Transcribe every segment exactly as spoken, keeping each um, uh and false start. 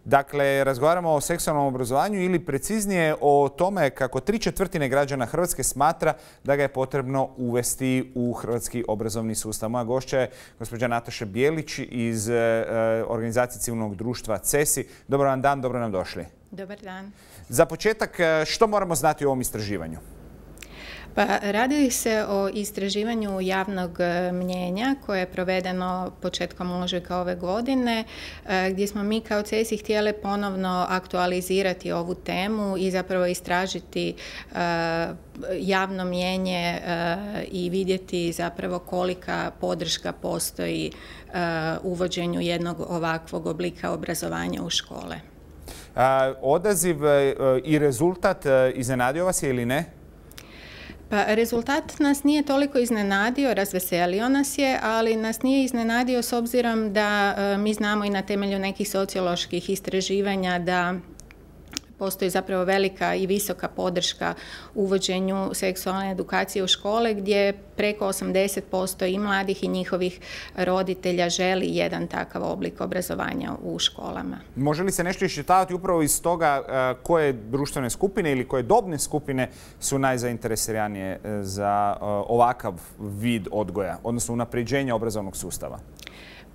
Dakle, razgovaramo o seksualnom obrazovanju ili preciznije o tome kako tri četvrtine građana Hrvatske smatra da ga je potrebno uvesti u hrvatski obrazovni sustav. Moja gošća je gospođa Nataša Bijelić iz organizacije civilnog društva C E S I. Dobar vam dan, dobro nam došli. Dobar dan. Za početak, što moramo znati o ovom istraživanju? Pa radi se o istraživanju javnog mnjenja koje je provedeno početkom ožujka ove godine, gdje smo mi kao C E S I htjeli ponovno aktualizirati ovu temu i zapravo istražiti javno mnjenje i vidjeti zapravo kolika podrška postoji uvođenju jednog ovakvog oblika obrazovanja u škole. Odaziv i rezultat iznenadio vas je ili ne? Pa rezultat nas nije toliko iznenadio, razveselio nas je, ali nas nije iznenadio s obzirom da mi znamo i na temelju nekih socioloških istraživanja da postoji zapravo velika i visoka podrška uvođenju seksualne edukacije u škole, gdje preko osamdeset posto i mladih i njihovih roditelja želi jedan takav oblik obrazovanja u školama. Može li se nešto iščitavati upravo iz toga koje društvene skupine ili koje dobne skupine su najzainteresiranije za ovakav vid odgoja, odnosno unapređenja obrazovnog sustava?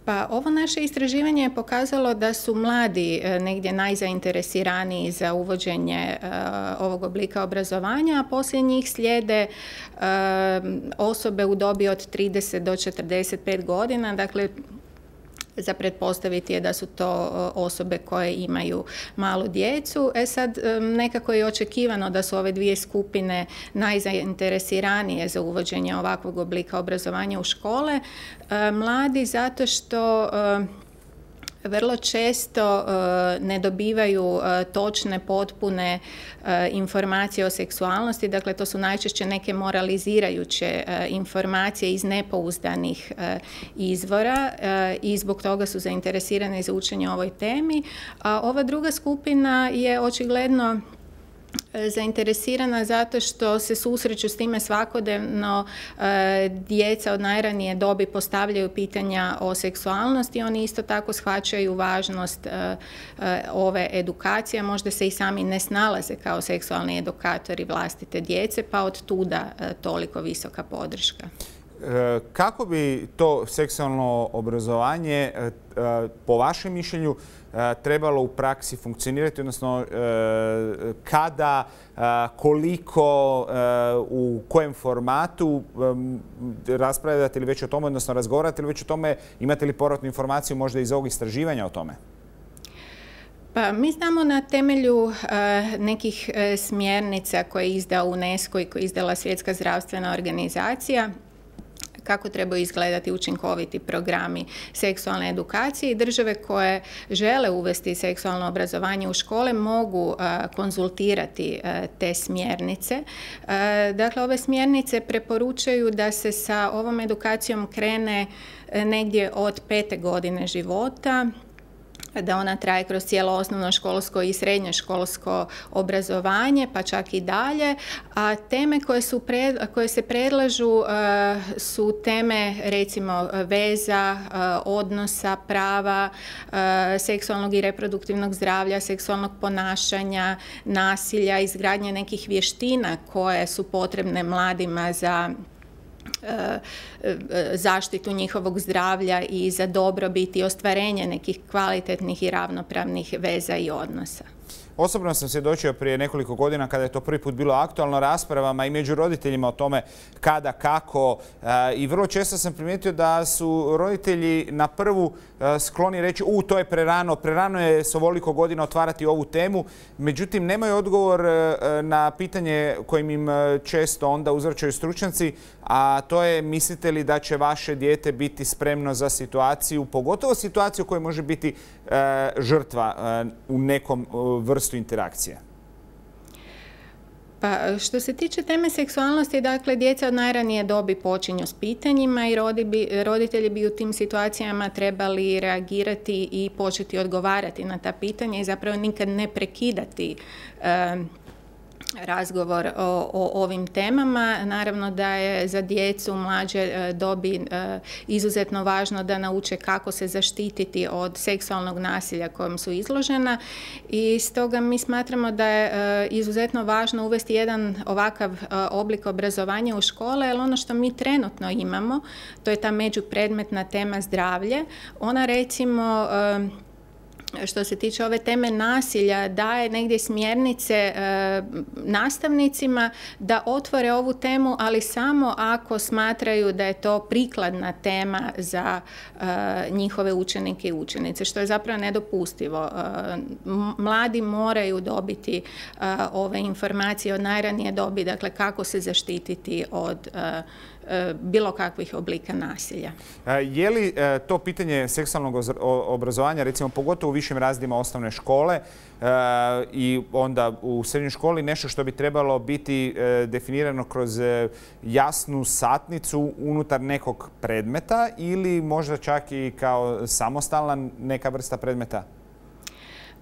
Pa ovo naše istraživanje je pokazalo da su mladi negdje najzainteresiraniji za uvođenje ovog oblika obrazovanja, a poslije njih slijede osobe u dobi od trideset do četrdeset pet godina, dakle za pretpostaviti je da su to osobe koje imaju malu djecu. E sad, nekako je očekivano da su ove dvije skupine najzainteresiranije za uvođenje ovakvog oblika obrazovanja u škole. Mladi zato što vrlo često uh, ne dobivaju uh, točne, potpune uh, informacije o seksualnosti. Dakle, to su najčešće neke moralizirajuće uh, informacije iz nepouzdanih uh, izvora uh, i zbog toga su zainteresirani za učenje o ovoj temi. A ova druga skupina je očigledno zainteresirana zato što se susreću s time svakodnevno. Djeca od najranije dobi postavljaju pitanja o seksualnosti, oni isto tako shvaćaju važnost ove edukacije, možda se i sami ne snalaze kao seksualni edukatori vlastite djece, pa od tuda toliko visoka podrška. Kako bi to seksualno obrazovanje po vašem mišljenju trebalo u praksi funkcionirati, odnosno kada, koliko, u kojem formatu raspravljate li već o tome, odnosno razgovarate li već o tome, imate li povratnu informaciju možda iz ovog istraživanja o tome? Pa mi znamo na temelju uh, nekih uh, smjernica koje je izdao UNESCO i koje je izdala Svjetska zdravstvena organizacija, kako trebaju izgledati učinkoviti programi seksualne edukacije, i države koje žele uvesti seksualno obrazovanje u škole mogu uh, konzultirati uh, te smjernice. Uh, dakle, ove smjernice preporučaju da se sa ovom edukacijom krene uh, negdje od pete godine života, da ona traje kroz cijelo osnovnoškolsko i srednjoškolsko obrazovanje, pa čak i dalje. A teme koje, su pred, koje se predlažu uh, su teme recimo veza, uh, odnosa, prava, uh, seksualnog i reproduktivnog zdravlja, seksualnog ponašanja, nasilja, izgradnje nekih vještina koje su potrebne mladima za zaštitu njihovog zdravlja i za dobrobit i ostvarenje nekih kvalitetnih i ravnopravnih veza i odnosa. Osobno sam svjedočio prije nekoliko godina kada je to prvi put bilo aktualno raspravama i među roditeljima o tome kada, kako, i vrlo često sam primijetio da su roditelji na prvu skloni reći u, to je prerano, prerano je s ovoliko godina otvarati ovu temu, međutim nemaju odgovor na pitanje kojim im često onda uzvraćaju stručnjaci, a to je mislite li da će vaše dijete biti spremno za situaciju, pogotovo situaciju koja može biti žrtva u nekom vrstu interakcije? Pa što se tiče teme seksualnosti, dakle, djeca od najranije dobi počinju s pitanjima i rodi bi, roditelji bi u tim situacijama trebali reagirati i početi odgovarati na ta pitanja i zapravo nikad ne prekidati e, razgovor o, o ovim temama. Naravno da je za djecu mlađe dobi izuzetno važno da nauče kako se zaštititi od seksualnog nasilja kojem su izložena i stoga mi smatramo da je izuzetno važno uvesti jedan ovakav oblik obrazovanja u škole, jer ono što mi trenutno imamo, to je ta međupredmetna tema zdravlje. Ona recimo što se tiče ove teme nasilja, daje negdje smjernice e, nastavnicima da otvore ovu temu, ali samo ako smatraju da je to prikladna tema za e, njihove učenike i učenice, što je zapravo nedopustivo. E, mladi moraju dobiti e, ove informacije od najranije dobi, dakle kako se zaštititi od e, bilo kakvih oblika nasilja. Je li to pitanje seksualnog obrazovanja, recimo pogotovo u višim razredima osnovne škole i onda u srednjoj školi, nešto što bi trebalo biti definirano kroz jasnu satnicu unutar nekog predmeta ili možda čak i kao samostalna neka vrsta predmeta?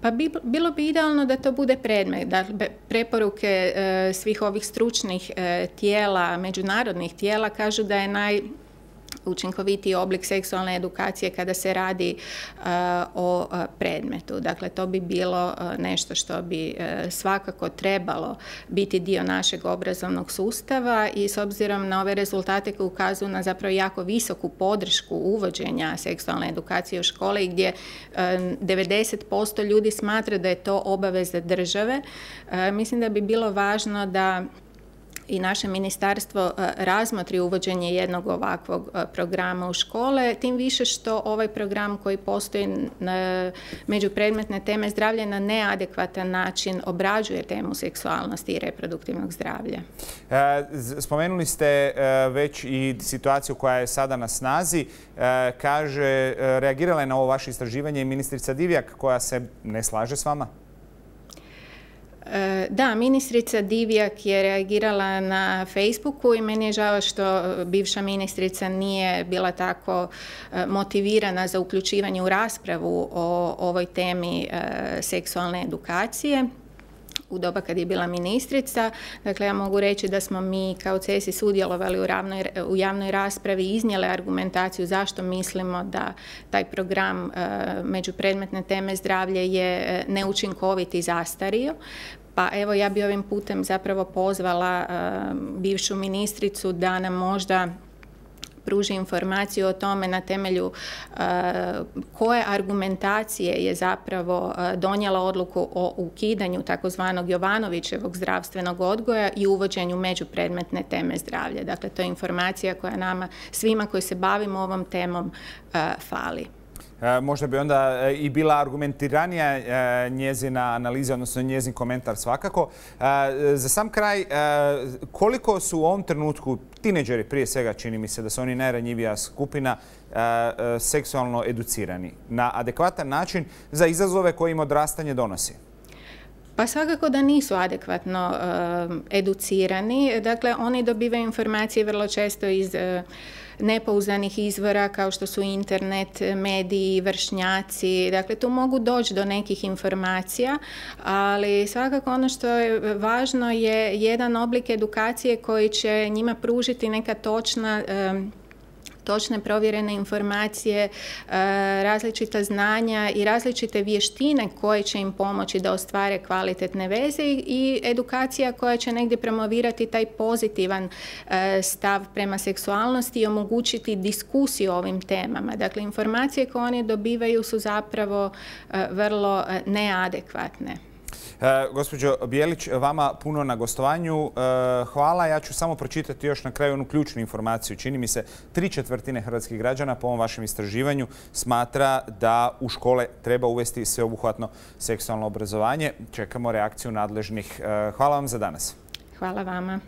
Pa bi, bilo bi idealno da to bude predmet. Dakle, preporuke e, svih ovih stručnih e, tijela, međunarodnih tijela kažu da je naj učinkovitiji oblik seksualne edukacije kada se radi uh, o uh, predmetu. Dakle, to bi bilo uh, nešto što bi uh, svakako trebalo biti dio našeg obrazovnog sustava i s obzirom na ove rezultate koji ukazuju na zapravo jako visoku podršku uvođenja seksualne edukacije u škole i gdje uh, devedeset posto ljudi smatra da je to obaveza države, uh, mislim da bi bilo važno da i naše ministarstvo razmotri uvođenje jednog ovakvog programa u škole, tim više što ovaj program koji postoji na međupredmetne teme zdravlja na neadekvatan način obrađuje temu seksualnosti i reproduktivnog zdravlja. Spomenuli ste već i situaciju koja je sada na snazi. Kaže, reagirala je na ovo vaše istraživanje i ministrica Divjak koja se ne slaže s vama? Da, ministrica Divjak je reagirala na Facebooku i meni je žao što bivša ministrica nije bila tako motivirana za uključivanje u raspravu o ovoj temi seksualne edukacije u doba kad je bila ministrica. Dakle, ja mogu reći da smo mi kao C E S I sudjelovali u, ravnoj, u javnoj raspravi i iznijeli argumentaciju zašto mislimo da taj program e, međupredmetne teme zdravlje je neučinkovit i zastario. Pa evo, ja bi ovim putem zapravo pozvala e, bivšu ministricu da nam možda pruži informaciju o tome na temelju uh, koje argumentacije je zapravo uh, donijela odluku o ukidanju takozvanog Jovanovićevog zdravstvenog odgoja i uvođenju međupredmetne teme zdravlja. Dakle, to je informacija koja nama, svima koji se bavimo ovom temom, uh, fali. Možda bi onda i bila argumentiranija njezina analiza, odnosno njezin komentar svakako. Za sam kraj, koliko su u ovom trenutku tineđeri, prije svega čini mi se da su oni najranjivija skupina, seksualno educirani na adekvatan način za izazove koje im odrastanje donosi? Pa svakako da nisu adekvatno uh, educirani. Dakle, oni dobivaju informacije vrlo često iz uh, nepouzdanih izvora kao što su internet, mediji, vršnjaci. Dakle, tu mogu doći do nekih informacija, ali svakako ono što je važno je jedan oblik edukacije koji će njima pružiti neka točna um, točne provjerene informacije, različita znanja i različite vještine koje će im pomoći da ostvare kvalitetne veze i edukacija koja će negdje promovirati taj pozitivan stav prema seksualnosti i omogućiti diskusiju o ovim temama. Dakle, informacije koje oni dobivaju su zapravo vrlo neadekvatne. E, gospođo Bijelić, vama puno na gostovanju. E, hvala. Ja ću samo pročitati još na kraju onu ključnu informaciju. Čini mi se, tri četvrtine hrvatskih građana po ovom vašem istraživanju smatra da u škole treba uvesti sveobuhvatno seksualno obrazovanje. Čekamo reakciju nadležnih. E, hvala vam za danas. Hvala vama.